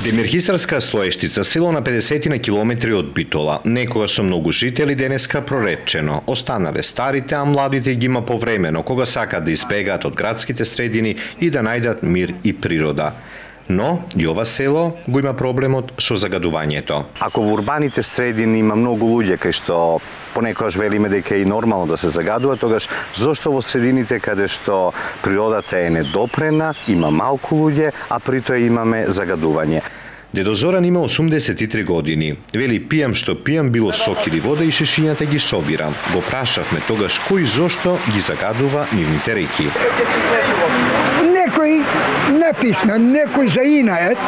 Демирхисарска Слоештица, село на 50 на километри од Битола, некога со многу жители, денеска проречено. Останале старите, а младите ги има повремено, кога сакат да избегаат од градските средини и да најдат мир и природа. Но и ова село го има проблемот со загадувањето. Ако во урбаните средини има многу луѓе кај што понекогаш велиме дека е и нормално да се загадува, тогаш зошто во средините каде што природата е недопрена, има малку луѓе, а при тоа имаме загадување? Дедо Зоран има 83 години. Вели, пијам што пијам, било сок или вода и шишињата ги собирам. Го прашавме тогаш кој зошто ги загадува нивните реки. Некој неписмен, некој за инает.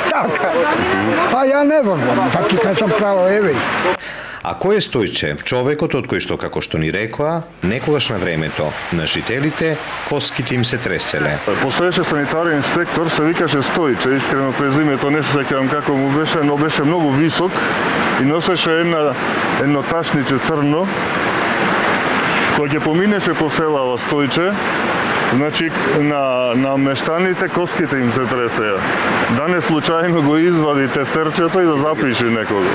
Така. А ја не верувам, така кажам право, еве. А кој е Стојче, човекот од кој што, како што ни рекоа, некогаш на времето, на жителите, коските им се треселе. Постоеше санитарен инспектор, се викаше Стојче, искрено презимето не се сеќавам како му беше, но беше многу висок и носеше едно ташниче црно. Кога ќе поминеше по селава Стојче, значи на мештаните коските им се тресеа. Да не случајно го извади тефтерчето и да запише некого.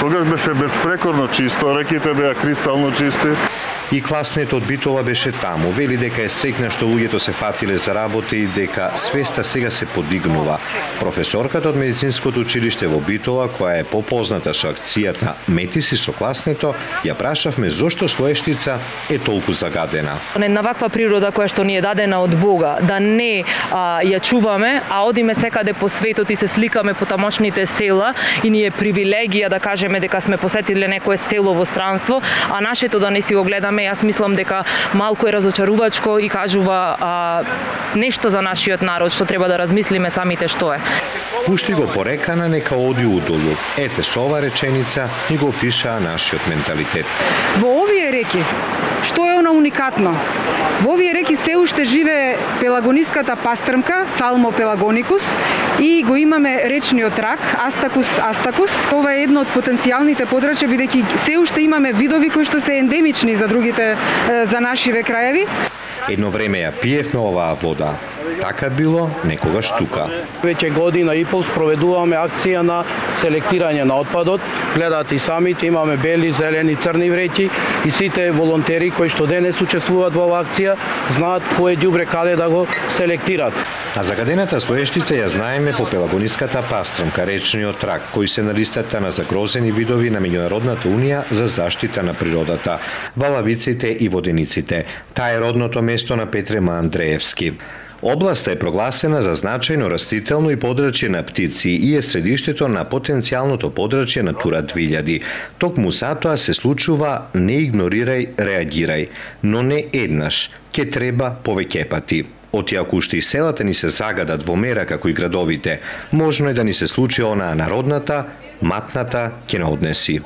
Тогаш беше безпрекорно чисто, реките беа кристално чисти. И класнето од Битола беше таму. Вели дека е среќна што луѓето се фатиле за работа и дека свеста сега се подигнува. Професорката од медицинското училиште во Битола, која е попозната со акцијата Мети си со класнето, ја прашавме зошто Слоештица е толку загадена. На ваква природа која што ни е дадена од Бога, да не ја чуваме, а одиме секаде по светот и се сликаме по тамошните села и ни е привилегија да кажеме дека сме посетиле некое село во странство, а нашето да не си го гледаме. Јас мислам дека малку е разочарувачко и кажува нешто за нашиот народ што треба да размислиме самите што е. Пушти го порекана, нека оди удолу. Ете, со ова реченица ни го опишаа нашиот менталитет. Во овие реки, што е она уникатно? Во овие реки се уште живее пелагониската пастрмка, Салмо пелагоникус, и го имаме речниот рак, Астакус астакус. Ова е едно од потенцијалните подрачја, бидејќи се уште имаме видови кои што се ендемични за другите, за нашиве краеви. Едно време ја пиевме оваа вода. Така било некогаш тука. Веќе година и пол спроведуваме акција на селектирање на отпадот. Гледате и самите, имаме бели, зелени, црни вреќи и сите волонтери кои што денес учествуваат во оваа акција знаат кој ѓубре каде да го селектират. А загадената Слоештица ја знаеме по пелагониската пастрмка, речниот рак, кој се на листата на загрозени видови на Меѓународната унија за заштита на природата, валавиците и водениците. Таа е родното место на Петре Андреевски. Областа е прогласена за значајно растително и подрачје на птици и е средиштето на потенцијалното подрачје Натура 2000. Токму затоа се случува не игнорирај, реагирај, но не еднаш, ке треба повеќе пати. Оти ако уште и селата ни се загадат во мера како и градовите, можно е да ни се случи онаа народната, матната ќе не однеси.